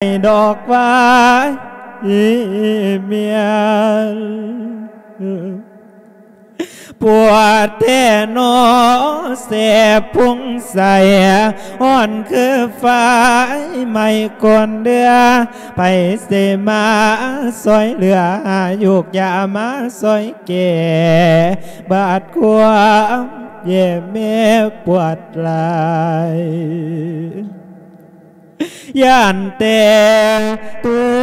ດອກຫວາຍເມຍນ ປວດແທ້ໜໍ ແສບພຸງໃສ ຮ້ອນຄືໄຟໄໝ້ກົ້ນເດືອ ໃຜຊິມາຊ່ອຍເຫຼືອ ຫາຢູກຢາມາຊ່ອຍແກ້ ບາດຄວາມແຍ່ແມ່ປວດຫຼາຍ ຢ້ານແຕ່ຕົວ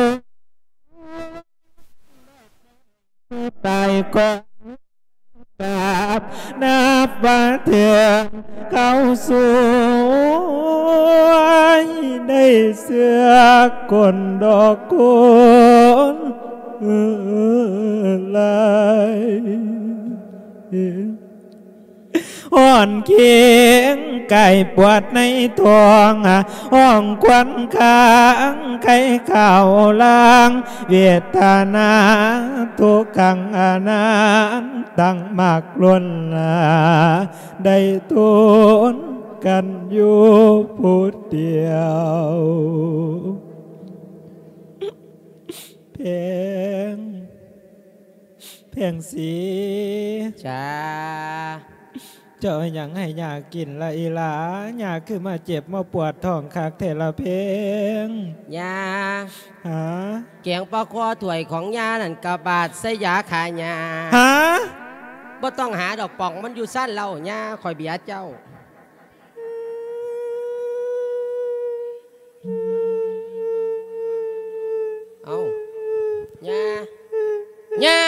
ຕາຍກ່ອນກັບ ນັບວ່າເຖິງຄາວສວຍ ໄດ້ເຊື່ອຄົນດອກຄົນຫຼາຍ. ຮ້ອນເຄງກາຍປວດໃນທ້ອງ ຮ້ອງຄວັນຄ້າງໄຄຄາວລາງ ເວດຕະນາທຸກຂັງອະນັນຕັງ ມັກລົ້ນລາ ໄດ້ທົນກັນຢູ່ຜູ້ດຽວ. ແພງ ແພງສີ. ຈ້າ. ເຈົ້າເອົາຫຍັງໃຫ້ຍ່າກິນລະອີ່ຫຼ້າ? ຍ່າຄືມາເຈັບມາປວດທ້ອງຄັກແທ້ລະແພງ? ຍ່າ. ຫາ? ແກງປາຄໍຖ້ວຍຂອງຍ່ານັ້ນກະບາດໃສ່ຢາຂ້າຫຍ້າ. ຫາ? ບໍ່ຕ້ອງຫາດອກ ປ່ອງມັນຢູ່ຊານເຫຼົ້າ. ຍ່າ ຂ້ອຍເບຍເຈົ້າ. ເອົ້າ ຍ່າ ຍ່າ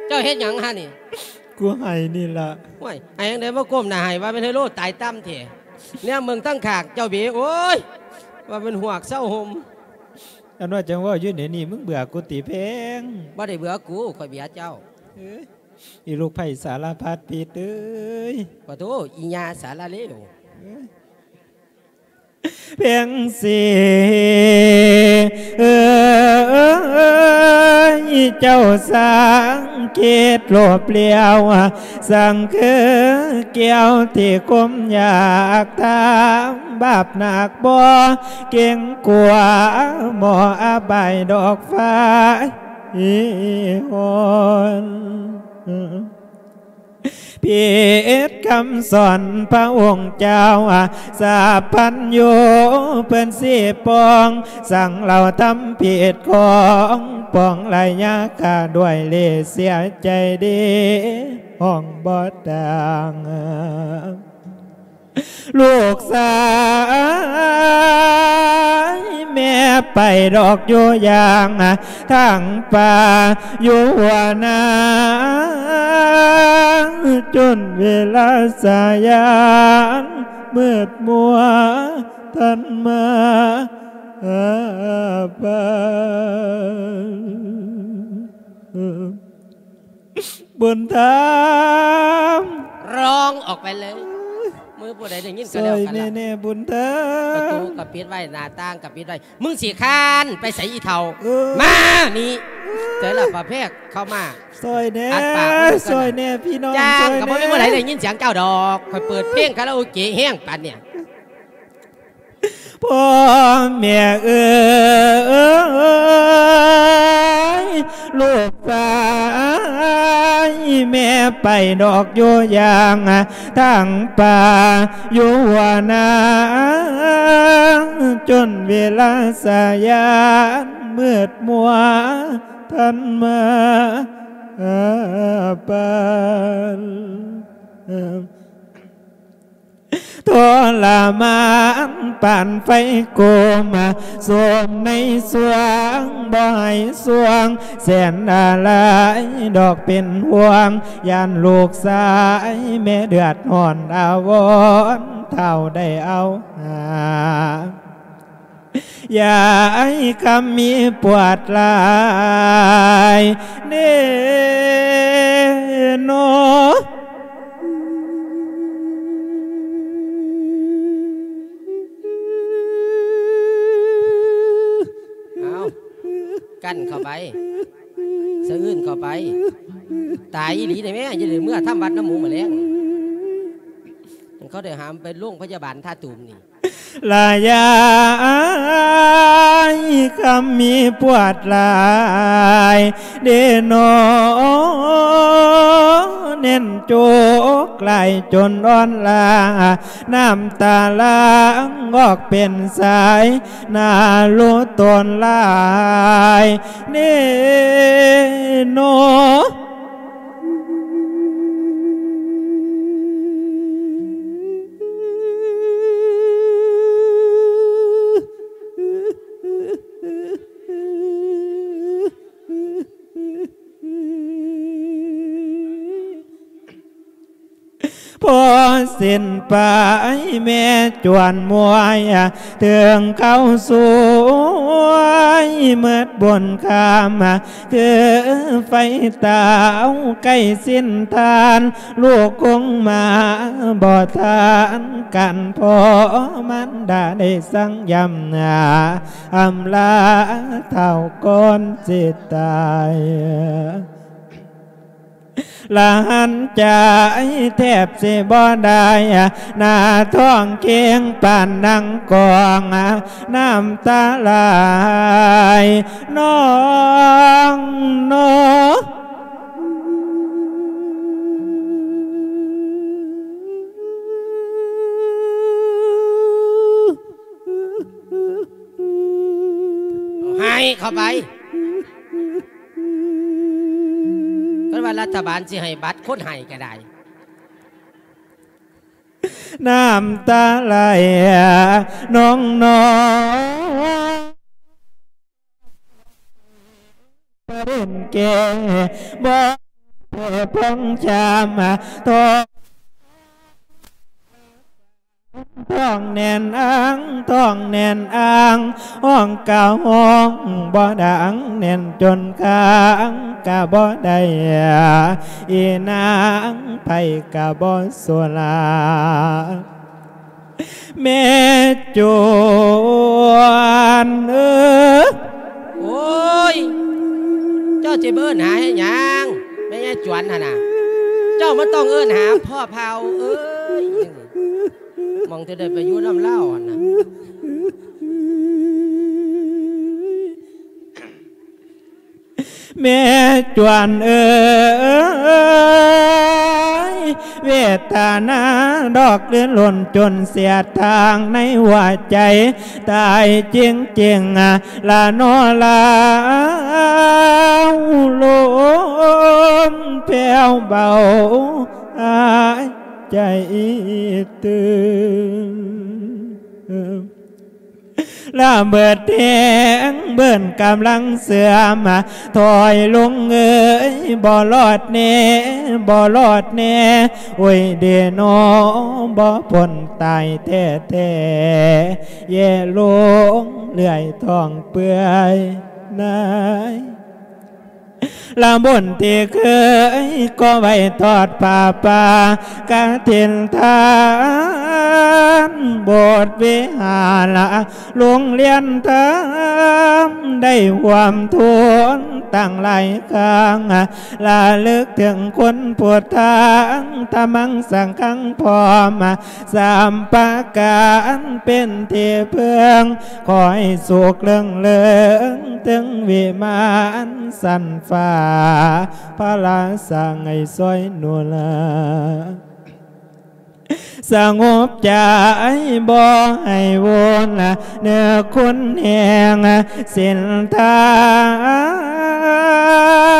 ເຈົ້າເຮັດຫຍັງຫັ້ນນີ້? ກູໄຫ້ນີ້ລະ. ໂອ້ຍ ໄຫ້ຈັ່ງໃດມາກົ້ມໜ້າໄຫ້ ວ່າແມ່ນໄຮໂລຕາຍຕ່ຳແທ້. ແນມເບິ່ງທາງຂ້າງເຈົ້າເບ ໂອ້ຍ ວ່າແມ່ນຫວກເຊົາຫົ່ມ. ອັນວ່າຈັ່ງເວົ້າຢູ່ດຽວນີ້ ມຶງເບື່ອກູຕິແພງ? ບໍ່ໄດ້ເບື່ອກູ ຂ້ອຍເບຍເຈົ້າ. ເອີຍ ອີລູກໃພ້ສາລະພັດຜິດເອີຍ. ປະໂທ ອີຍ່າສາລະເລວ. ເອີຍ ແພງສີເອີຍ ເຈົ້າສັງເກດໂລບຫຼຽວ ສັງຄືແກ້ວທີ່ຄົມຢາກຖາມ ບາບໜັກບໍ່ເກງກົວ ໝໍອະບາຍດອກຟ້າ ອີ່ຮອນ ຜິດຄຳສອນພະອົງເຈົ້າ ສັບພັນຍູເພິ່ນຊິປອງ ສັງເຫຼົ່າທຳຜິດຂອງປອງ ໄລຍາກາດ້ວຍເລເສຍໃຈດີ ຮ້ອງບໍ່ຕ່າງ. ລູກຊາຍແມ່ໄປດອກຢູ່ຢ່າງທາງປ່າ ຢູ່ຫົວນາ ຈົນເວລາສາຍານມືດມົວ ທ່ານມາຫາປານ. ບຸນທຳ ຮ້ອງອອກໄປເລີຍ. ມື້ຜູ້ໃດໄດ້ຍິນກໍແລ້ວກັນລະ. ຊ່ອຍແນ່ໆ ບຸນທຳ. ປະຕູກໍປິດໄວ້ ໜ້າຕ່າງກໍປິດໄວ້. ມຶງຊິຄ້ານໄປໃສອີ່ເຖົ້າ? ເອີ ມານີ້. ເຈີລະປະແພກເຂົ້າມາ. ຊ່ອຍແນ່ ອັດປາກມັນ ຊ່ອຍແນ່ພີ່ນ້ອງ ຈ້າງ ຊ່ອຍແນ່. ກໍບໍ່ມີຜູ້ໃດໄດ້ຍິນສຽງເຈົ້າດອກ. ຂ້ອຍເປີດເພງຄາຣາໂອເກະແຮງປານນີ້. ພໍ່ແມ່ເອີຍ ລູກຊາຍແມ່ໄປດອກຢູ່ຢ່າງທາງປ່າ ຢູ່ຫົວນາ ຈົນເວລາສາຍານມືດມົວ ທ່ານມາຫາປານ. ທໍລະມານປານໄຟໂກມ ໂສມໃນສວງບໍ່ໃຫ້ສວງ ແສນອາໄລດອກເປັນຫ່ວງ ຢ້ານລູກຊາຍແມ່ເດືອດຮ້ອນອາວອນ ທ້າວໄດ້ເອົາຫາ ຢາຍຄຳມີປວດຫຼາຍເນໂນ. ເອົາ ກັ້ນເຂົ້າໄປ ສະອື່ນເຂົ້າໄປ ຕາຍອີ່ຫຼີໄດ໋ແມ່ ຢ່າໄດ້ເມືອທຳວັດນຳໝູ່ມື້ແລງ ເຂົາໄດ້ຫາມໄປໂລງພະຍາບານທ່າຕູມນີ້. ລະຍາຍຄຳມີປວດຫຼາຍເດນໍ ເໜັ້ນໂຈກຫຼາຍຈົນອ່ອນລາ ນ້ຳຕາຫຼັ່ງອອກເປັນສາຍ ໜ້າລຸຕົນຫຼາຍເດນໍ. ພໍສິ້ນໄປແມ່ຈວນມວຍ ເຖິງເຂົ້າສວຍໝົດບຸນຄຳ ຄືໄຟເຕົາໃກ້ສິ້ນທານ ລູກຄົງມາບໍ່ທັນກັນ ພໍ່ມານດາໄດ້ສັ່ງຢ້ຳນາ ອຳລາເຖົ້າກ່ອນຊິຕາຍ ລະຫັນໃຈແທບຊິບໍ່ໄດ້ ໜ້າທ້ອງເຄັ່ງປານນັ່ງກອງ ນ້ຳຕາໄຫຼນອງນໍ. ໃຫ້ເຂົ້າໄປ ເພິ່ນວ່າລັດຖະບານຊິໃຫ້ບັດຄົນໃຫ້ກໍໄດ້ ນ້ຳຕາໄຫຼນອງໆ ປະເດັນແກ່ບໍ່ແຜ່ພອງຈາມ ທ້ອງແໜ້ນອ່າງ ທ້ອງແໜ້ນອ່າງ ຮ້ອງກະຮ້ອງບໍ່ດັງ ແໜ້ນຈົນຄ້າງກະບໍ່ໄດ້ ອີນາງໃຜກະບໍ່ສູ້ລາ ແມ່ຈວນເອີຍ. ໂອ້ຍ ເຈົ້າຊິໄປເອີ້ນຫາເຮັດຫຍັງ? ແມ່ຍາຍຈວນຫັ້ນນະ ເຈົ້າມັນຕ້ອງເອີ້ນຫາພໍ່ເຖົ້າເອີຍ ໝ່ອງຈະໄດ້ໄປຢູ່ນຳລາວຫັ້ນນະ. ແມ່ຈວນເອີຍ ເວດຕະນາດອກລື່ນລົນຈົນເສຍທາງໃນຫົວໃຈ ຕາຍຈິງໆ ລະນໍລາວ ລົມແຜ່ວເບົາ ຫາຍໃຈຕື່ມ. ລະເບີດແຮງເບີນກຳລັງເສື່ອມ ຖອຍລົງເອີຍ ບໍ່ລອດແນ່ ບໍ່ລອດແນ່ ໂອ້ຍເດນໍ ບໍ່ພົ້ນຕາຍແທ້ໆ ແຍ່ລົງເລື້ອຍທ້ອງເປື່ອຍນາຍ. ລະບຸນທີ່ເຄີຍກໍ່ໄວ້ທອດຜ້າປ່າກະຖິນທານ ໂບດວິຫານ ໂລງລຽນທຳ ໄດ້ຮ່ວມທຸນຕັ້ງຫຼາຍຄັ້ງ ລະລຶກເຖິງຄຸນພຸດທາງ ທຳມັງສັງຄັງພ້ອມ ສາມປະການເປັນທີ່ເພິ່ງ ຂໍໃຫ້ສຸກເລິງເລີງເຖິງວິມານຊັ້ນຟ້າ ພະລາສ້າງໃຫ້ຊ່ອຍໜູນລາ ສະຫງົບໃຈບໍ່ໃຫ້ວຸ່ນ ເນື້ອຄົນແຮງສິນທາ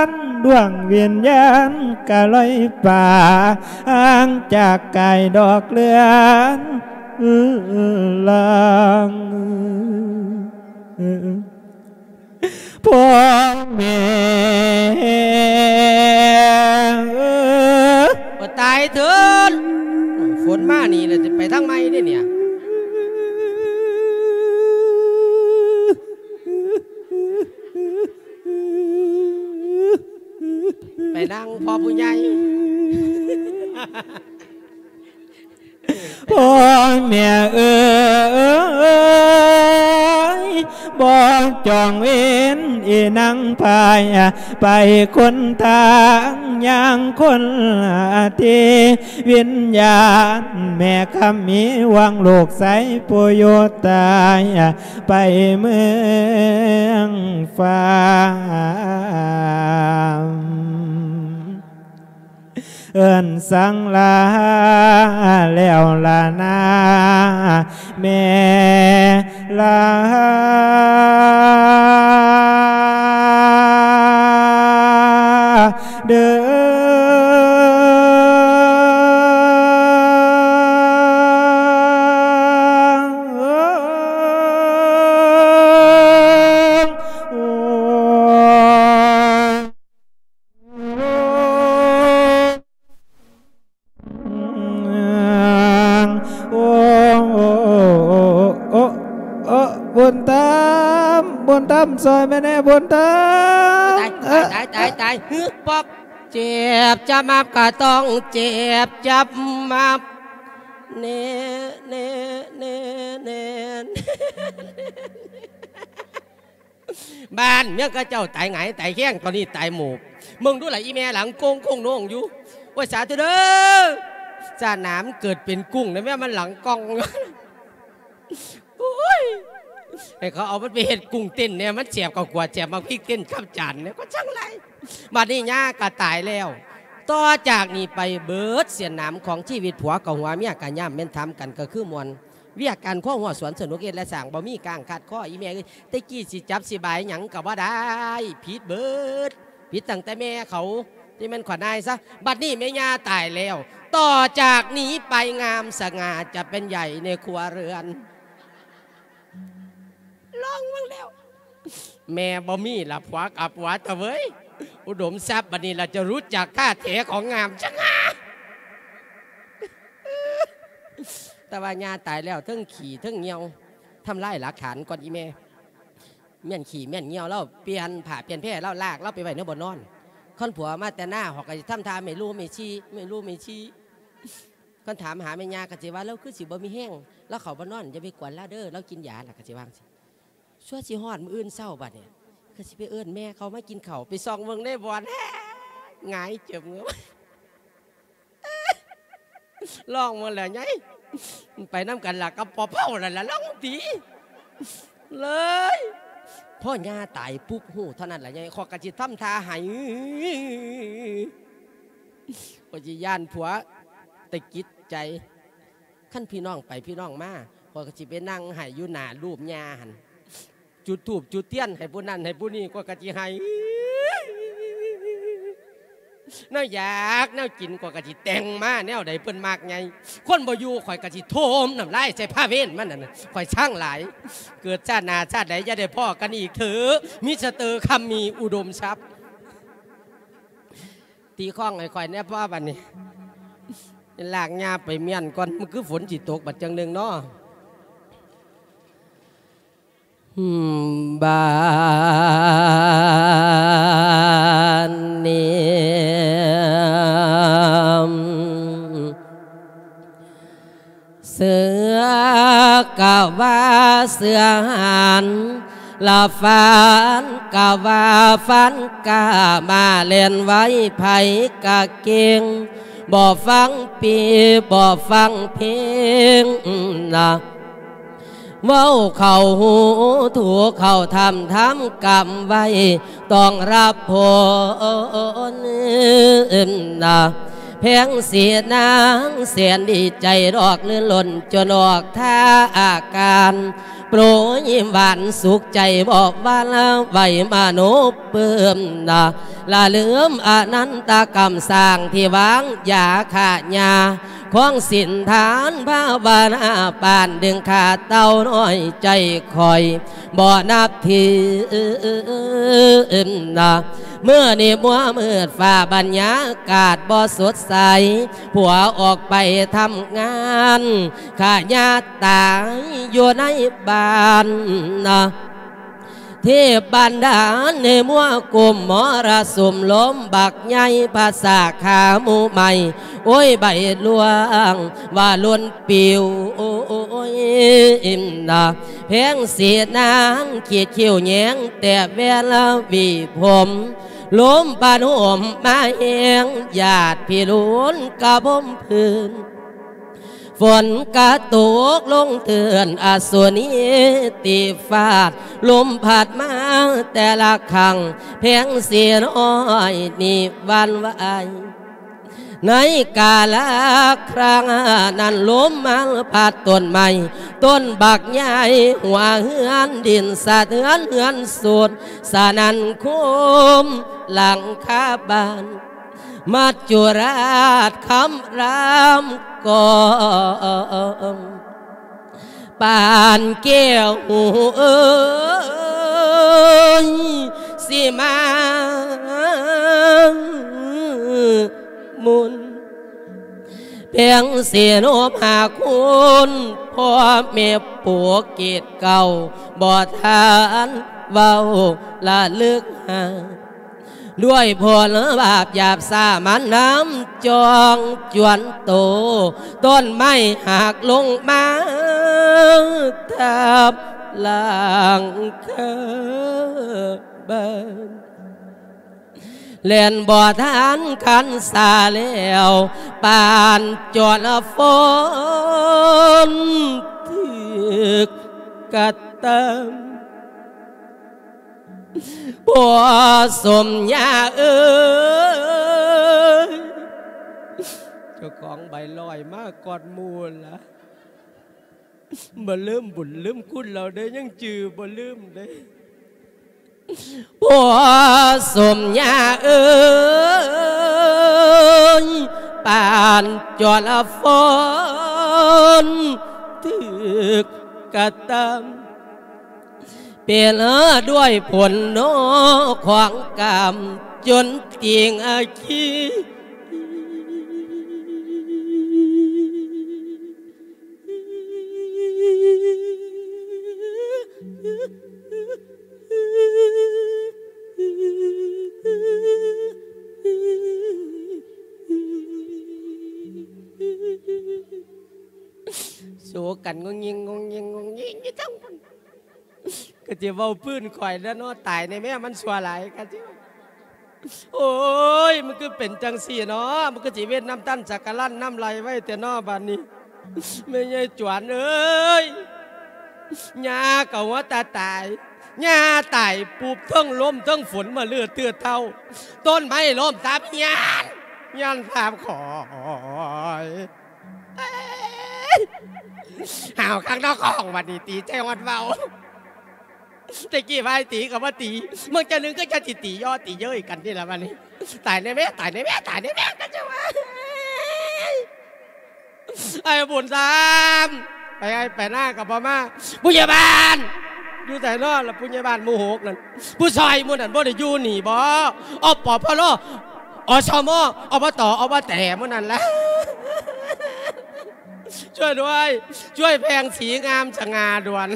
ນ ດວງວິນຍານກະລອຍປ່າ ຫ່າງຈາກກາຍດອກເລືອນ ລາງ ພໍ່ແມ່ເອີຍ ບໍ່ຕາຍເທີ້ນ ຝົນມານີ້ແລ້ວ ຊິໄປທາງໃໝ່ເດ້ນີ້ ໄປນຳພໍ່ຜູ້ໃຫຍ່. ພໍ່ແມ່ເອີຍ ບໍ່ຈອງເວນອີນາງພາຍ ໄປຄົນທາງຍ່າງຄົນທີ່ ວິນຍານແມ່ຄຳມີຫວັງລູກຊາຍຜູ້ຢູ່ຕາຍ ໄປເມືອງຟ້າ ເອີ້ນສັງລາແລ້ວລະນາ ແມ່ລາເດີ. ໂອ້ ໂອ້ ໂອ້ ໂອ້ ບຸນທຳ ບຸນທຳ ຊ່ອຍແມ່ແດ່ ບຸນທຳ. ຕາຍ ຕາຍ ຕາຍ ຕາຍ ຕາຍ ຮຶບ ປອບ ເຈັບຈະມັບກໍຕ້ອງເຈັບຈະມັບ ເນ ເນ ເນ ເນ. ບ້ານເມືອງເຂົາເຈົ້າຕາຍຫງາຍຕາຍແຄງ ຕອນນີ້ຕາຍໂໝບ. ເບິ່ງດູລະ ອີແມ່ຫຼັງໂກ່ງໂຄ້ງໂໜງຢູ່. ໂອ້ຍ ສາທຸເດີ ຊາດໜ້າມັນເກີດເປັນກຸ້ງນະແມ່ ມັນຫຼັງກ່ອງ. ໂອ້ຍ ໃຫ້ເຂົາເອົາມັນໄປເຮັດກຸ້ງເຕັ້ນແດ່ ມັນແຊບກວ່າຂວດ ແຊບໝາກພິກເຕັ້ນກັບຈານແດ່ ກໍຈັ່ງໃດ. ບັດນີ້ຍ່າກໍຕາຍແລ້ວ ຕໍ່ຈາກນີ້ໄປເບິດເສັ້ນນາມຂອງຊີວິດ ຜົວກໍຫົວ ເມຍກໍຍ່າມ ແມ່ນຖາມກັນກໍຄືມ່ວນ. ວຽກການຄົວຫົວສວນສະໜຸກເຮັດແລະສ້າງ ບໍ່ມີກາງຄາດຄໍ ອີແມ່ເອີຍ. ແຕ່ກີ້ຊິຈັບຊິບາຍຫຍັງກໍບໍ່ໄດ້ ຜິດເບິດ ຜິດຕັ້ງແຕ່ແມ່ເຂົາ ທີ່ແມ່ນຂວັນອາຍຊະ. ບັດນີ້ແມ່ຍ່າຕາຍແລ້ວ ຕໍ່ຈາກນີ້ໄປງາມສະຫງ່າຈະເປັນໃຫຍ່ໃນຄົວເຮືອນ. ລອງເບິ່ງແລ້ວ ແມ່ບໍ່ມີລະ ຜົວກັບຜົວຕະເວີຍ ອຸດົມຊັບ ບັດນີ້ລະຈະຮູ້ຈັກທ່າແທ້ຂອງງາມສະຫງ່າ. ແຕ່ວ່າຍ່າຕາຍແລ້ວ ເທິງຂີ້ເທິງຍ່ຽວ ທຳລາຍຫຼັກຖານກ່ອນອີແມ່. ແມ່ນຂີ້ແມ່ນຍ່ຽວລາວ ປ່ຽນຜ້າປ່ຽນແພລາວ ລາກລາວໄປໄວ້ໃນບ່ອນນອນ. ຄັນຜົວມາແຕ່ນາ ເຮົາກໍຊິທຳທ່າແມ່ລູແມ່ຊີ ແມ່ລູແມ່ຊີ. ຄັນຖາມຫາແມ່ຍ່າກໍຊິວ່າ ລາວຄືຊິບໍ່ມີແຮງ ລາວເຂົ້າບ່ອນນອນ ຢ່າໄປກວນລາວເດີ ລາວກິນຢາ ລາວກໍຊິວ່າຈັ່ງຊີ້. ຊົ່ວຊິຮອດມື້ອື່ນເຊົ້າບັດນີ້ ກໍຊິໄປເອີ້ນແມ່ເຂົາມາກິນເຂົ້າ ໄປສ່ອງເບິ່ງໃນບ່ອນ ແຮງ ຫງາຍເຈີບເງີບ. ລອງເບິ່ງແຫຼະຍາຍ ໄປນຳກັນລະກັບພໍ່ເຖົ້ານັ້ນລະ ລອງຕິ ເລີຍ. ພໍຍ່າຕາຍປຸບ ຮູ້ເທົ່ານັ້ນລະຍາຍ ຂ້ອຍກໍຊິທຳທ່າໄຫ້ ຂ້ອຍຊິຢ້ານຜົວຕະກິດໃຈ. ຄັນພີ່ນ້ອງໄປພີ່ນ້ອງມາ ຂ້ອຍກໍຊິໄປນັ່ງໄຫ້ຢູ່ໜ້າຮູບຍ່າຫັ້ນ ຈຸດທູບຈຸດທຽນໃຫ້ຜູ້ນັ້ນໃຫ້ຜູ້ນີ້ ຂ້ອຍກໍຊິໄຫ້. ແນວຢາກແນວກິນ ຂ້ອຍກໍຊິແຕ່ງມາແນວໃດເພິ່ນມັກໃຫຍ່. ຄົນບໍ່ຢູ່ ຂ້ອຍກໍຊິຖົມນ້ຳລາຍໃສ່ພາເວນມັນນັ້ນ ຂ້ອຍຊັງຫຼາຍ. ເກີດຊາດໜ້າຊາດໃດຢ່າໄດ້ພໍ້ກັນອີກເທີ ມິສເຕີຄຳມີ ອຸດົມຊັບ. ຕີຄ້ອງໃຫ້ຂ້ອຍແດ່ພໍ່ ບັດນີ້ ລາກຍ່າໄປມ້ຽນກ່ອນ ມັນຄືຝົນຊິຕົກບັດຈັ່ງໜຶ່ງເນາະ. ບາດນີ້ ເສືອກະວ່າເສືອຫັນ ລະຟານກະວ່າຟານກ້າ ມາແລ່ນໄວໃຜກະເກັ່ງ ບໍ່ຟັງປີ ບໍ່ຟັງເພງນະ ເວົ້າເຂົ້າຫູ ຖູເຂົ້າຖ້ຳ ທຳກຳໄວ້ ຕ້ອງຮັບຜົນນະ ແພງສີນາງແສນດີໃຈດອກ ລື່ນລົ້ນຈົນອອກທ່າອາການ ໂປຣຍຫວານສຸກໃຈ ບໍ່ຫວັ່ນໄຫວມະໂນປຶ້ມນະ ລະລືມອະນັນຕະກຳສ້າງທີ່ວາງຢາຂ້າຫຍ້າ ຄອງສິນທານພາວະນາ ປານດຶງຂ້າເຕົ້ານ້ອຍໃຈຂ້ອຍ ບໍ່ນັບຖືນະ ມື້ນີ້ມົວມືດຟ້າບັນຍາກາດບໍ່ສົດໃສ ຜົວອອກໄປທຳງານ ຂ້າຍ່າຕາຍຢູ່ໃນບ້ານນະ ເທບບັນດານໃນມົວກຸມມໍລະສຸມ ລົມບັກໃຫຍ່ພັດສາຂາໝູ່ໄມ້ ໂອ້ຍ ໃບລວງວ່າຫຼົ່ນປິວ ໂອ້ຍ ນະ ແພງສີນາງຂີດຄິ້ວແຍງແຕ້ແວ່ນລະຫວີຜົມ ລົມພັດຫົມມາແຮງ ຍາດພິລຸນກະບົມພື້ນ ຝົນກະຕົກລົງເຕືອນ ອະສຸນີຕີຟາດ ລົມພັດມາແຕ່ລະຄັ້ງ ແພງສີນ້ອຍນີ້ຫວັ່ນໄຫວ. ໃນກາລະຄັ້ງນັ້ນ ລົມມາພັດຕົ້ນໄມ້ ຕົ້ນບັກໃຫຍ່ ຫົວເຮືອນດິນສະເທືອນ ເຮືອນສຸດສະໜັ່ນໂຄມຫຼັງຄາບ້ານ ມັດຈຸລາດຄຳລາມກອງ ປານແກ້ວຫູເອີຍ ຊິມາມຸນ ແພງສີໂນບຫາຄຸນ ພໍ່ແມ່ປູເກດເກົ່າ ບໍ່ທັນເວົ້າລະລຶກຫາ ດ້ວຍຜົນບາບຫຍາບສາມັນນຳຈອງຈວນໂຕ ຕົ້ນໄມ້ຫັກລົງມາທັບຫຼັງຄາບ້ານ ແລ່ນບໍ່ທັນຄັນສາແລ້ວ ປານຈອນຝົນຖືກກະຕຳ ພໍ່ສົມຍາເອີຍ ເຈົ້າຂອງໃບລອຍມາກ່ອນໝູ່ລະ ບໍ່ລືມບຸນລືມຄຸນລາວເດ້ ຍັງຈື່ບໍ່ລືມເດ້ ພໍ່ສົມຍາເອີຍ ປານຈອນຝົນຖືກກະຕຳ ເປັນດ້ວຍຜົນໂນຂອງກຳ ຈົນຕິງອາຄີ ໂສກັນງຸ່ງຍິງ ງຸ່ງຍິງ ງຸ່ງຍິງຢູ່ທັງພຸ້ນ ກໍຊິເວົ້າພື້ນຂ້ອຍແລ້ວເນາະ ຕາຍແນ່ແມ້ ມັນຊົ່ວຫຼາຍ ກໍຊິ ໂອ້ຍ ມັນຄືເປັນຈັ່ງຊີ້ເນາະ ມັນຄືຊິເວັນນ້ຳຕັນສັກກະລັນນ້ຳໄຫຼໄວແທ້ເນາະ ບາດນີ້ ແມ່ໃຫຍ່ຈວນເອີຍ ຍ່າກໍຫົວຕາຕາຍ ຍ່າຕາຍປຸບ ເທິງລົມເທິງຝົນມາເລືອເທື່ອເທົາ ຕົ້ນໄມ້ລົ້ມທັບຍານ ຍານທັບຂ້ອຍ ຫ້າວຄັກເນາະຂອງ ບັດນີ້ຕີໃຈຮອດເວົ້າ ແຕ່ກີ້ວ່າໃຫ້ຕີກໍບໍ່ຕີ ເບິ່ງຈັ່ງໜຶ່ງກໍຈະຊິຕີຍໍ້ຕີເຍີ້ຍກັນນີ້ລະບັດນີ້ ຕາຍແນ່ແມ້ ຕາຍແນ່ແມ້ ຕາຍແນ່ແມ້ ກໍຈະວ່າ ໄອ້ບຸນທຳ ໄປໄຮ່ໄປນາກໍບໍ່ມາ ຜູ້ໃຫຍ່ບ້ານ ຢູ່ໃສເນາະລະ ຜູ້ໃຫຍ່ບ້ານໝູ່ຫົກນັ້ນ ຜູ້ຊ່ອຍໝູ່ນັ້ນບໍ່ໄດ້ຢູ່ນີ້ບໍ ອປພລ ອສມ ອບຕ ອບແຕ ໝູ່ນັ້ນລະ ຊ່ວຍດ້ວຍ ຊ່ວຍແພງສີງາມສະຫງ່າດ່ວນ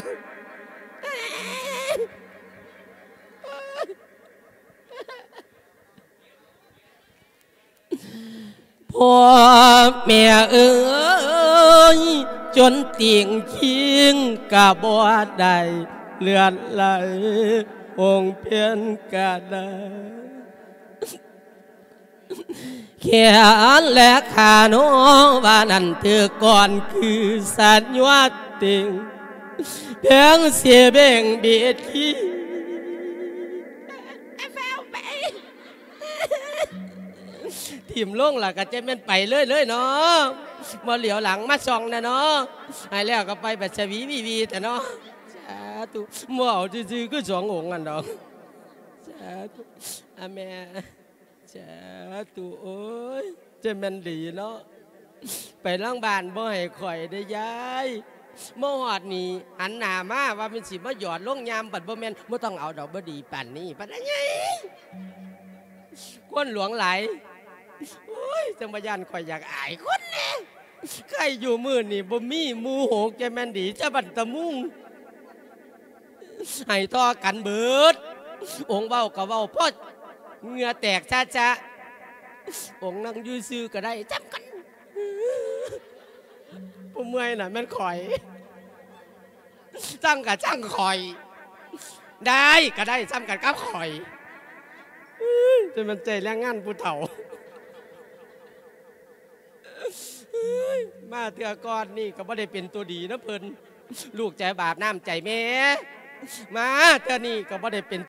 ພໍ່ແມ່ເອີຍ ຈົນຕິ່ງຄີງກະບໍ່ໄດ້ ເລືອດໄຫຼອົງເພັນກະໄດ້ ແຂນແລະຂາໂນວ່ານັ້ນ ຖືກກ່ອນຄືສັນຍວດຕິງ ເພິ່ງຊິເບັ່ງບີດຄີ ຖິ້ມລົງລະກະຈະແມ່ນໄປເລີຍໆເນາະ ບໍ່ຫຼຽວຫຼັງມາສ່ອງແນ່ເນາະ ໃຫ້ແລ້ວກໍໄປແບບສະຫວີວີວີແທ້ເນາະ ສາທຸ ບໍ່ເອົາຊື່ໆຄືສອງອົງຫັ້ນດອກ ສາທຸ ອາແມ່ ສາທຸ ໂອ້ຍ ຈະແມ່ນດີເນາະ ໄປຫຼັງບ້ານບໍ່ໃຫ້ຂ້ອຍເດ້ຍາຍ ມາຮອດນີ້ຫັນໜ້າມາວ່າແມ່ນຊິມາຢອດລົງຍາມ ບັດບໍ່ແມ່ນ ບໍ່ຕ້ອງເອົາດອກ ບໍ່ດີປານນີ້ ປານໃຫຍ່ ຄົນຫຼວງຫຼາຍ ໂອ້ຍ ຈັ່ງວ່າຢ້ານຂ້ອຍຢາກອາຍຄົນແດ່ ໃຄຢູ່ມື້ນີ້ບໍ່ມີໝູ່ຫົກ ຈະແມ່ນດີ ຈະບັນຕະມຸງ ໄຫ້ຕໍ່ກັນເບິດ. ອົງເວົ້າກໍເວົ້າພໍເຫື່ອແຕກຊະໆ. ອົງນັ່ງຢູ່ຊື່ກໍໄດ້ຊ່ຳກັນ. ຜູ້ເມື່ອຍນະແມ່ນຂ້ອຍ. ຊ່າງກະຊ່າງຂ້ອຍ. ໄດ້ກະໄດ້ຊ່ຳກັນກັບຂ້ອຍ. ຈະແມ່ນໃຈແຮງງານຜູ້ເຖົ້າ. ມາເທື່ອກ່ອນນີ້ກໍບໍ່ໄດ້ເປັນຕົວດີນຳເພິ່ນ. ລູກໃຈບາບນ້ຳໃຈແມ່. ມາເທື່ອນີ້ກໍບໍ່ໄດ້ເປັນ